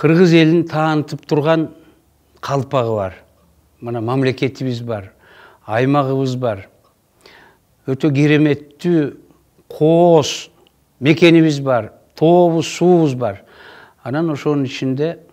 Кыргыз элин таанытып турган калпагы бар. Мына мамлекетибиз бар, аймагыбыз бар. Өтө кереметтүү кооз мекенибиз бар, тообуз, суубуз бар. Анан ошонун ичинде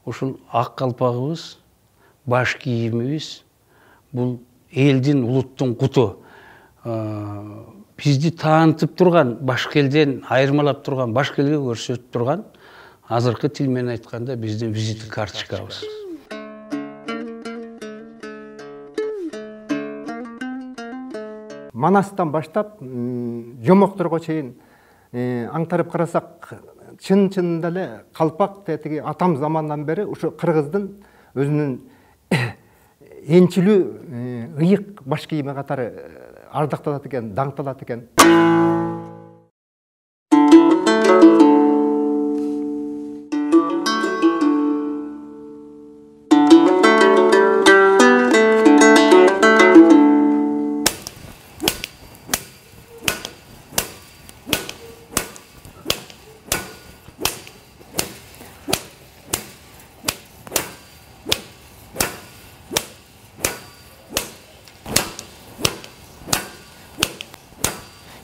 ушул ак калпагыбыз, баш кийимибиз бул элдин, улуттун куту. Бизди таанытып турган, башка элден айырмалап турган, башка элге көрсөтүп турган, азыркы тил менен айтканда биздин визиттик карточкабыз. Манастан баштап жомокторго чейин аңтарып карасак, чын-чынында эле калпак тетиги атам замандан бери ушу кыргыздын өзүнүн энчилүү ыйык баш кийими катары ардакталат экен, даңкталат экен.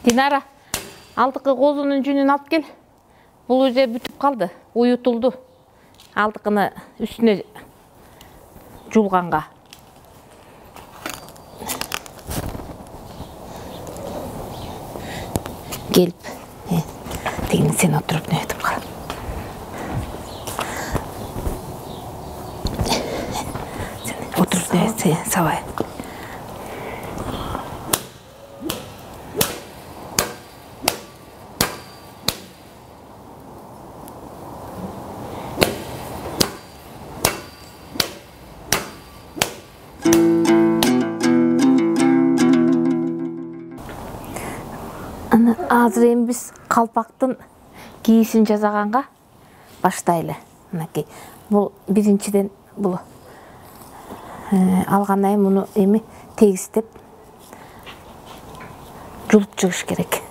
Динара, алдыкы козунун жүнүн алып кел. Бул уже бүтүп калды, уютулду. Алдыкыны үстүнө жуулганга. Келип, тегин сен отуруп нетип кал. Сен отуруп нетсе сабай. Азыр эми биз калпактын кийишин жасаганга баштайлы. Мынакей. Бул биринчиден бул алгандан кийин муну эми тегистеп жулуп чыгыш керек.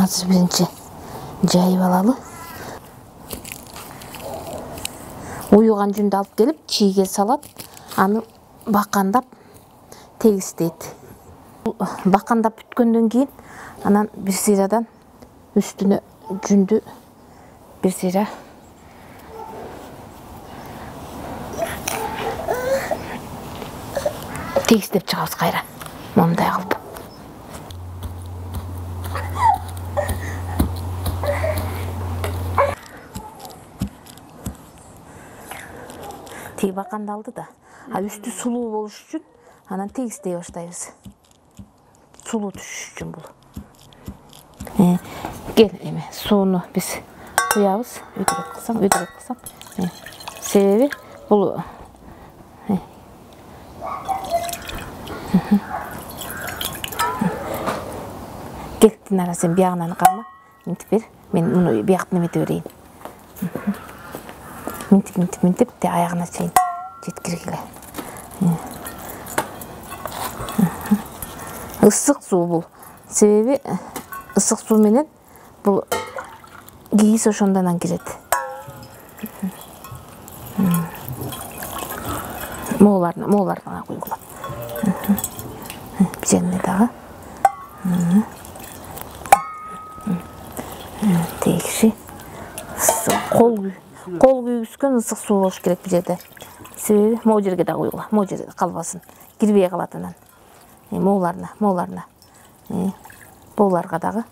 Азыр биринчи жайып алалы. Уюган жүндү алып келип, чийге салат, аны бакандап тегистейт. Бакандап бүткөндөн кийин, анан бир сыйрадан үстүнө жүндү бир сыйра тегистеп чыгабыз кайра. Момундай кылып. Тиги бакандалды да, үстү сулуу болуш үчүн анан тегистей баштайбыз. Сулуу түшүш үчүн бул. Кел эми сууну биз куябыз, өйдөрөк кылсам. Себеби бул Кел, Динара, сен биягынан карма, минтип бер. Мен муну биякты немете берейин. Минтип, те аягына чейин жеткиргиле. Ысык суу бул. Себеби ысык суу менен бул кийиз ошондон кирет. Мооларына куйгула. Жерине дагы. Тегиши. Кол күйгүскөн ысык суу болуш керек бул жерде. Себеби могу жерге да куйгула, могу жерде калбасын. Кирбей калат анан. Мооларына. Бооларга дагы.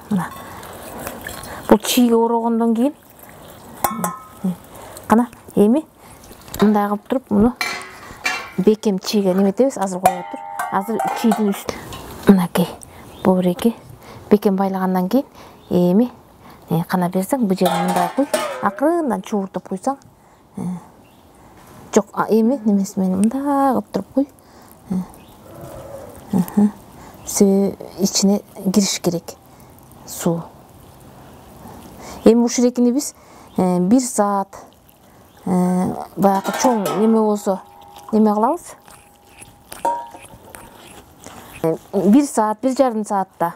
Мына. Бул чийге орогондон кийин кана эми мындай кылып туруп муну бекем чийге неметебиз, азыр коюп тур. Азыр чийдин үстү. Мынакей. Бул эки бекем байлагандан кийин эми кана берсең, бу жерин мындай куй, акырындан чууртуп куйсаң. Жок, эми немеси менен мындай кылып туруп куй. Ичине кириш керек суу. Эми ушул экини биз 1 саат баягы чоң неме болсо неме кылабыз. 1 саат, 1,5 саатта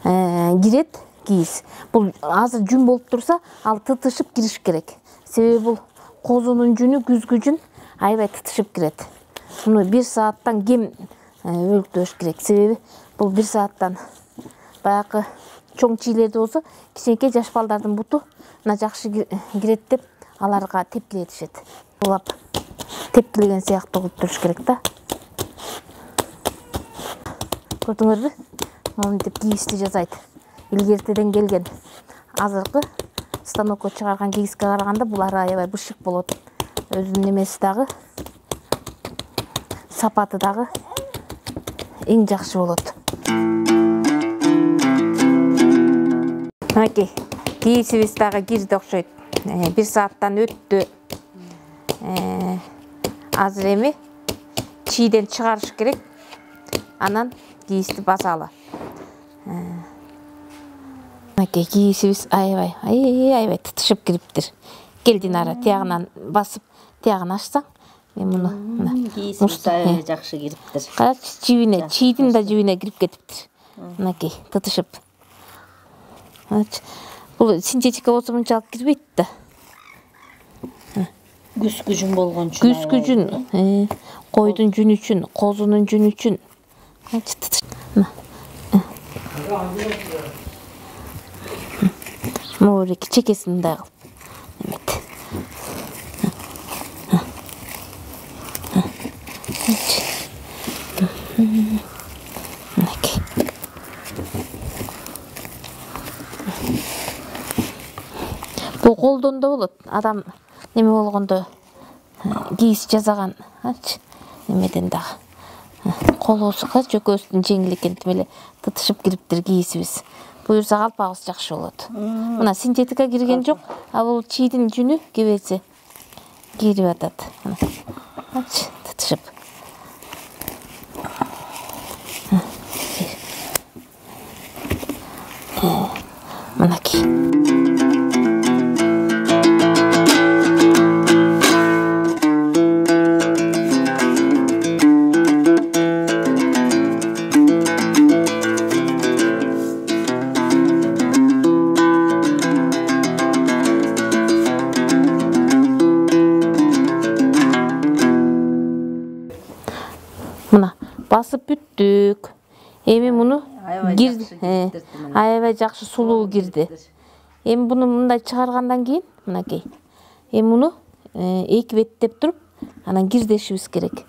кирет кийиз. Бул азыр жүн болуп турса, ал тытышып кириш керек. Себеби бул козунун жүнү күзгү жүн аябай тытышып кирет. Муну 1 сааттан кем өлүктөш керек. Себеби бул 1 сааттан баягы чоң чийлерде болсо, кичинекей жаш балдардын буту мына жакшы кирет деп аларга тепкилетишет. Улап тепкилеген сыяктуу кылып туруш керек да. Көрдүңөрбү? Монтип кийизди жасайт. Илгертеден келген азыркы станокко чыгарган кийизге караганда булар аябай бышык болот. Өзүнүн немеси дагы, сапаты дагы эң жакшы болот. Аки, кийизибиз дагы кирди окшойт. 1 сааттан өттү. Азыр эми чийден чыгарыш керек. Анан кийизди басалы. Аки, кийизибиз аябай тытышып кириптир. Кел Динара, тиягынан басып, тиягын ачсаң, мен муну кийизибиз аябай жакшы кириптир. Карачы, жибине, чийдин да жибине кирип кетиптир. Мынакей, тытышып. Бул синтетика болсо мынчалык кирбейт да. Күзгү жүн болгон үчүн. Күзгү жүн, койдун жүнү үчүн, козунун жүнү үчүн. Морик чекесин мындай кылып. Бул колдон да болот. Адам неме болгондо кийиз жасаган, немеден дагы. Колосуга жөкөсүнүн жеңил экентип эле тытышып кириптир кийизибиз. Буюрса калпагыбыз жакшы болот. Мына синтетика кирген жок, а бул чийдин жүнү кебеси кирип атат. Тытышып. Мынакей. Мына басып бүттүк. Эми муну аябай жакшы сулуу кирди. Эми буну мындай чыгаргандан кийин, мынакей. Эми муну эки беттеп туруп, анан кирдешибиз керек.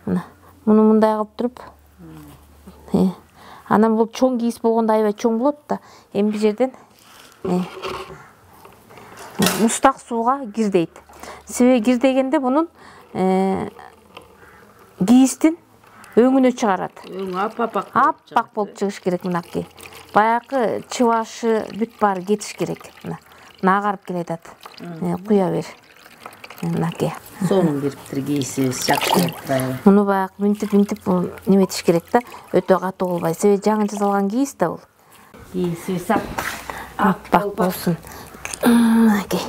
Мына муну мындай кылып туруп. Анан бул чоң кийиз болгондо аябай чоң болот да. Эми бул жерден мустак сууга кирдейт. Себеби кирдегенде бунун кийиздин өңүнө чыгарат. Өң аппак болуп чыгыш керек мынакей. Баягы чыбашы бүт баары кетиш керек. Мына агарып келатат. Куя бер. Мынакей. сонун кириптир кийизибиз жакшы болуптур. Муну баягы мынтип неметиш керек да, өтө катуу болбой. Себеби жаңы жасалган кийиз да бул. Кийизибиз аппак болсун. Мынакей.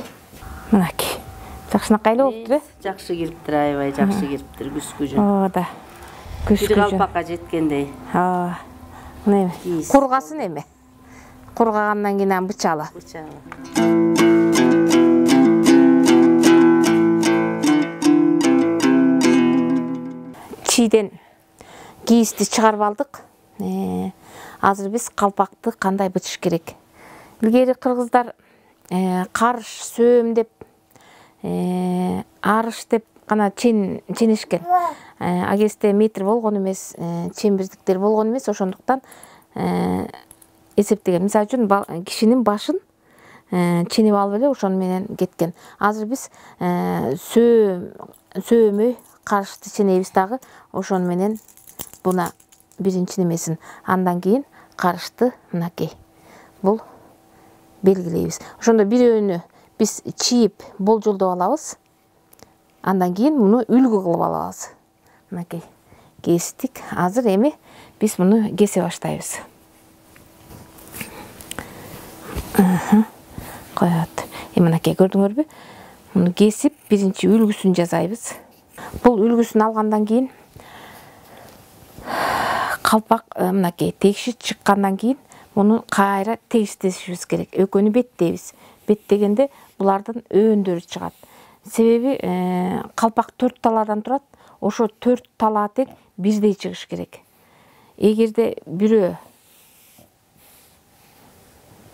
Жакшынакай эле болуптур, жакшы кириптир, аябай жакшы кириптир күзгү жүн. Оода. Күзгү калпакка жеткендей. Мына эми кургасын эми. Кургагандан кийин аны бычалы. Чийден кийизди чыгарып алдык. Азыр биз калпакты кандай бычыш керек? Илгери кыргыздар карыш, сөөм деп, арыш деп гана ченешкен. А кезде метр болгон эмес, чембирдиктер болгон эмес, ошондуктан эсептеген. Мисалы үчүн кишинин башын ченеп алып эле ошону менен кеткен. Азыр биз сөөмөй карышты ченебиз дагы, ошону менен буна биринчи немесин. Андан кийин карышты мынакей. Бул белгилейбиз. Ошондо бирөөнү биз чийип болжолдоп алабыз. Андан кийин муну үлгү кылып алабыз. Мынакей. Кестик. Азыр эми биз муну кесе баштайбыз. Коёт. Мынакей көрдүңөрбү? муну кесип биринчи үлгүсүн жасайбыз. Бул үлгүсүн алгандан кийин калпак мынакей тегиши чыккандан кийин муну кайра тегиштешибиз керек. Экөөнү беттейбиз. Беттегенде булардын өөндөр чыгат. Себеби калпак 4 талаадан турат. Ошо 4 талаа тең бирдей чыгыш керек. Эгерде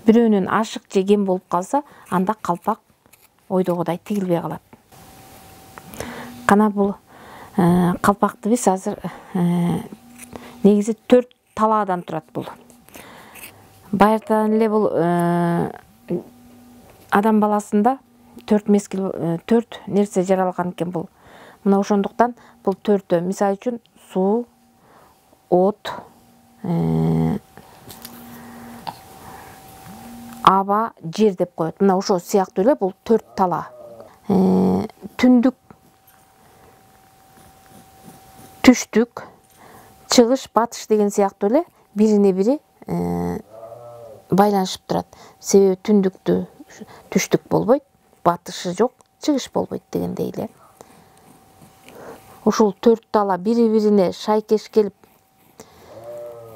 бирөөнүн ашык же кем болуп калса, анда калпак ойдогудай тигилбей калат. Кана бул калпакты биз азыр негизи 4 талаадан турат бул. Байыртан эле бул адам баласында 4 мезгил 4 нерсе жаралган экен бул. Мына ошондуктан бул 4-тө, мисалы үчүн суу, от, аба, жер деп коет. Мына ошо сыяктуу эле бул 4 талаа. Түндүк, түштүк, чыгыш, батыш деген сыяктуу эле бирине бири байланышып турат. Себеби түндүктү түштүк болбойт, батышы жок, чыгыш болбойт дегендей эле. Ушул 4 талаа бири-бирине шайкеш келип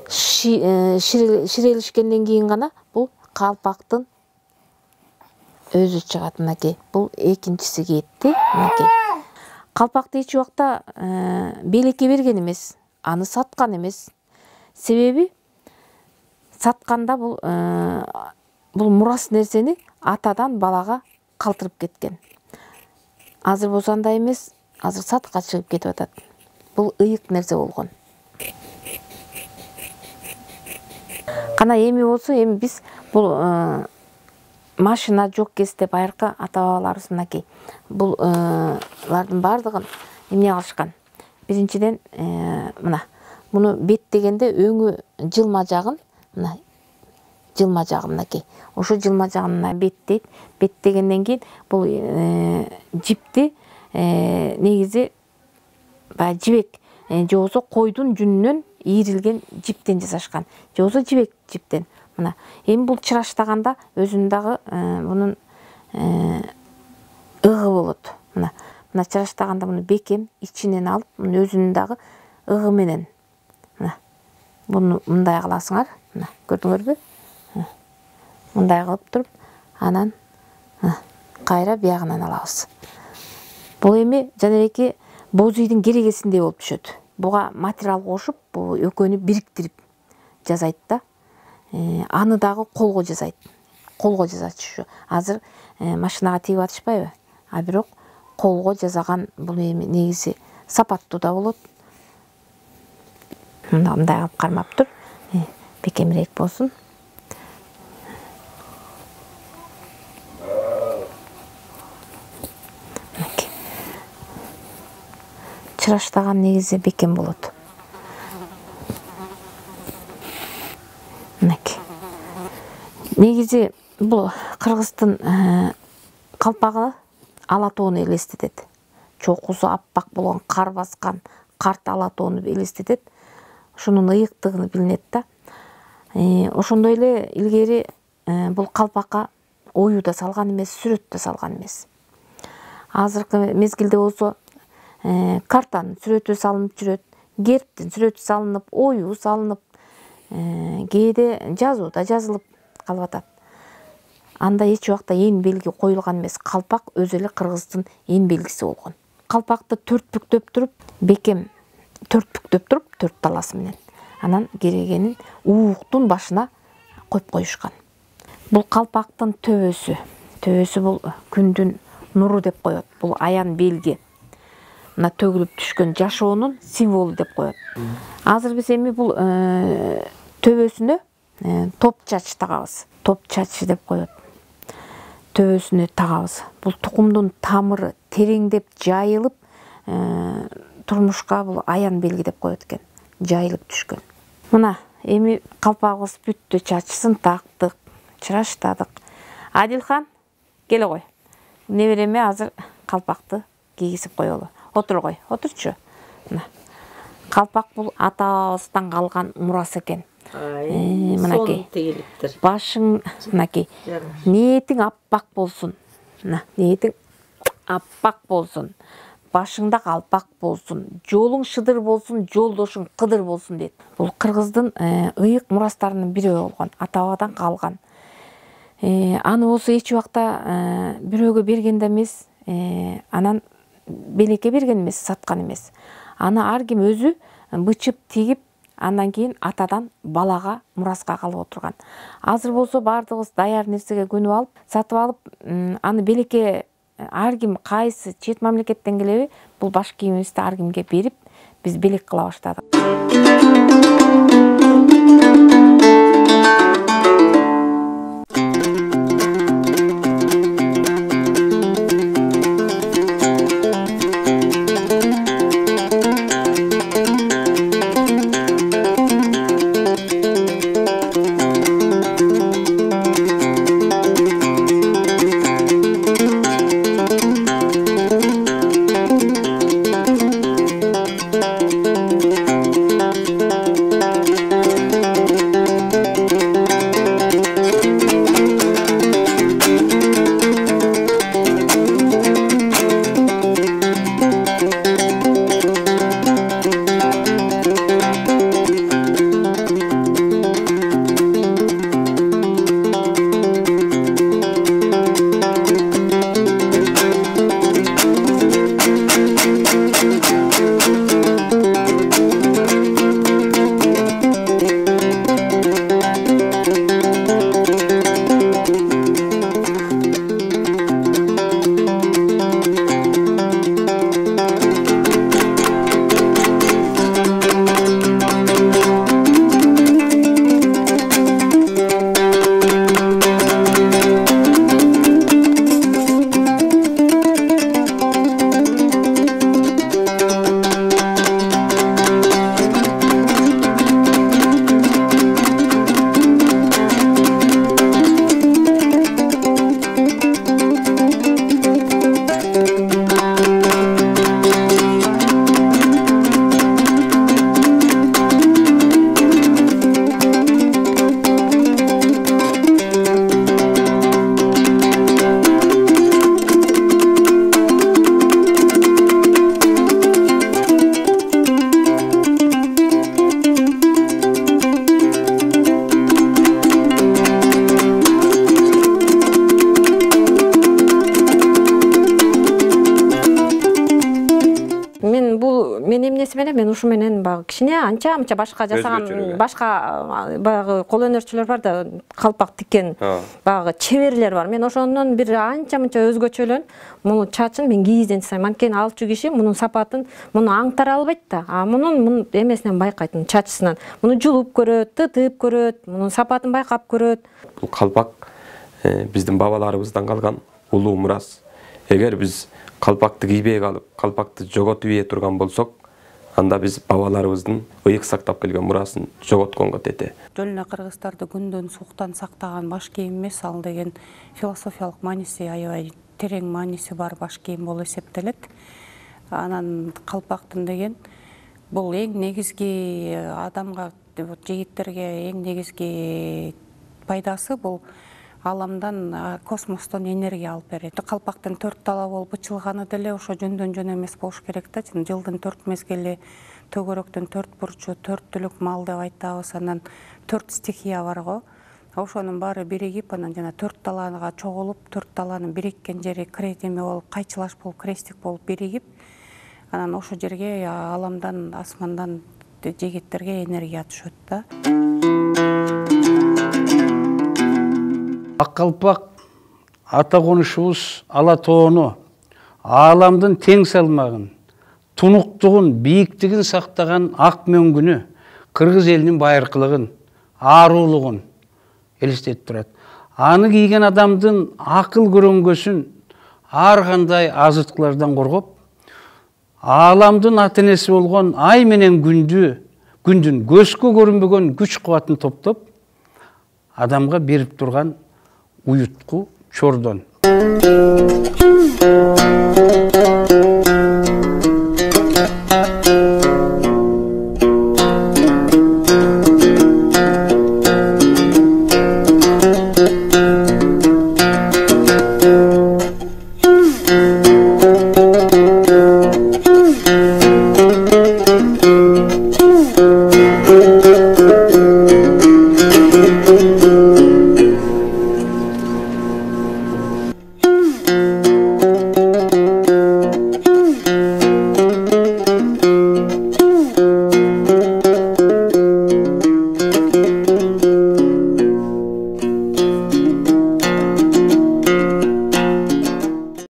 ширелишкенден кийин гана бул калпактын өзү чыгат. Мынакей, бул экинчиси кетти. Мынакей. Калпакты эч убакта белекке берген эмес, аны саткан эмес. Себеби сатканда бул мурас нерсени атадан балага калтырып кеткен. Азыр болсо андай эмес, азыр сатка чыгып кетип атат. Бул ыйык нерсе болгон. Кана эми болсо, эми биз бул машина жок кезде байыркы ата-бабаларыбыз мынакей. Булардын бардыгын эмне кылышкан? Биринчиден мына муну беттегенде өңү жылма жагын, мына жылма жагы мынакей. Ошо жылма жагын беттейт. Беттегенден кийин бул жипти негизи баягы жибек же болбосо койдун жүнүнөн ийрилген жиптен жасашкан. Же болбосо жибек жиптен. Мына эми бул чыраштаганда өзүнүн дагы мунун ыгы болот. Мына чыраштаганда муну бекем ичинен алып, муну өзүнүн дагы ыгы менен мына буну мындай кыласыңар. Мына көрдүңөрбү? Мындай кылып туруп, анан кайра биягынан алабыз. Бул эми жанабеки боз үйдүн керегесиндей болуп түшөт. Буга материал кошуп, бул экөөнү бириктирип жасайт да. Аны дагы колго жасайт. Колго жасачу. Азыр машинага тигип атышпайбы? А бирок колго жасаган бул эми негизи сапаттуу да болот. Мындай кылып кармап тур. Бекемирээк болсун. Чыраштаган негизи бекем болот. Негизи бул кыргыздын калпагы ала тоону элестетет. Чокусу аппак болгон, кар баскан карт ала тоону элестетет. Ошонун ыйыктыгы билинет да. Ошондой эле илгери бул калпакка ою да салган эмес, сүрөт да салган эмес. Азыркы мезгилде болсо картанын сүрөтү салынып жүрөт, гербтин сүрөтү салынып, ою салынып, кээде жазуу да жазылып калып атат. Анда эч убакта эң белги коюлган эмес. Калпак өзү эле кыргыздын эң белгиси болгон. Калпакты 4 бүктөп туруп, бекем 4 бүктөп туруп, 4 таласы менен. Анан керегенин ууктун башына коюп коюшкан. Бул калпактын төбөсү. Төбөсү бул күндүн нуру деп коет. Бул аян белги. Мына төгүлүп түшкөн жашоонун символу деп коет. Азыр биз эми бул төбөсүнө топ чач тагабыз. Топ чачы деп коет. Төбөсүнө тагабыз. Бул тукумдун тамыры тереңдеп жайылып, турмушка бул аян белги деп коет экен. Жайылып түшкөн. Мына эми калпагыбыз бүттү, чачысын тактык, чыраштадык. Адилхан, келе кой. Небереме азыр калпакты кийгизип коелу. Отургой, отурчу. Мына. Калпак бул ата-бабабыздан калган мурас экен. Мынакей. Башың, мынакей. Ниетиң аппак болсун. Мына, ниетиң аппак болсун, башыңда калпак болсун, жолуң шыдыр болсун, жолдошуң кыдыр болсун дейт. Бул кыргыздын ыйык мурастарынын бири болгон, ата бабадан калган. Аны болсо эч убакта бирөөгө берген да эмес, анан белекке берген эмес, саткан эмес. Аны ар ким өзү бычып тигип, андан кийин атадан балага мураска калып отурган. Азыр болсо баардыгыбыз даяр нерсеге көнүп алып, сатып алып, аны белекке ар ким кайсы чет мамлекеттен келеби, бул баш кийимибизди ар кимге берип, биз белек кыла баштадык. Мен ушу менен баягы кичине анча башка жасаган башка баягы кол өнөрчүлөр бар да, калпак тиккен баягы чеберлер бар. Мен ошондон бир анча-мынча өзгөчөлөн муну чачын мен кийизден жасайм. Анткени алчу киши мунун сапатын муну аңтара албайт да. А мунун эмесинен байкайт, чачысынан. Муну жулуп көрөт, тытып көрөт, мунун сапатын байкап көрөт. Бул калпак биздин бабаларыбыздан калган улуу мурас. Эгер биз калпакты кийбей калып, калпакты жоготуп ийе турган болсок, анда биз бабаларыбыздын ыйык сактап келген мурасын жоготконго тете. Жөн эле кыргыздарды күндөн сууктан сактаган баш кийим эмес, ал деген философиялык мааниси, аябай терең мааниси бар баш кийим болуп эсептелет. Анан калпактын деген бул эң негизги адамга, жигиттерге эң негизги пайдасы бул аламдан, космостон энергия алып берет. Калпактын 4 тала болуп бычылганы деле ошо жөндөн жөн эмес болуш керек да. Жылдын 4 мезгили, төгөрөктүн 4 бурчу, 4 түлүк мал деп айтабыз. Анан 4 стихия бар го. Ошонун баары биригип, анан жана 4 талага чогулуп, 4 таланын бириккен жери кредеме болуп, кайчылаш болуп, крестик болуп биригип, анан ошол жерге аламдан, асмандан жигиттерге энергия түшөт да. Ак калпак ата конушубуз Ала тоону, ааламдын тең салмагын, тунуктугун, бийиктигин сактаган ак мөңгүнү, кыргыз элинин байыркылыгын, ааруулугун элестетип турат. Аны кийген адамдын акыл көрөңгөсүн ар кандай азыткылардан коргоп, ааламдын ата энеси болгон ай менен күндүн көзгө көрүнбөгөн күч кубатын топтоп, адамга берип турган уютку чордон.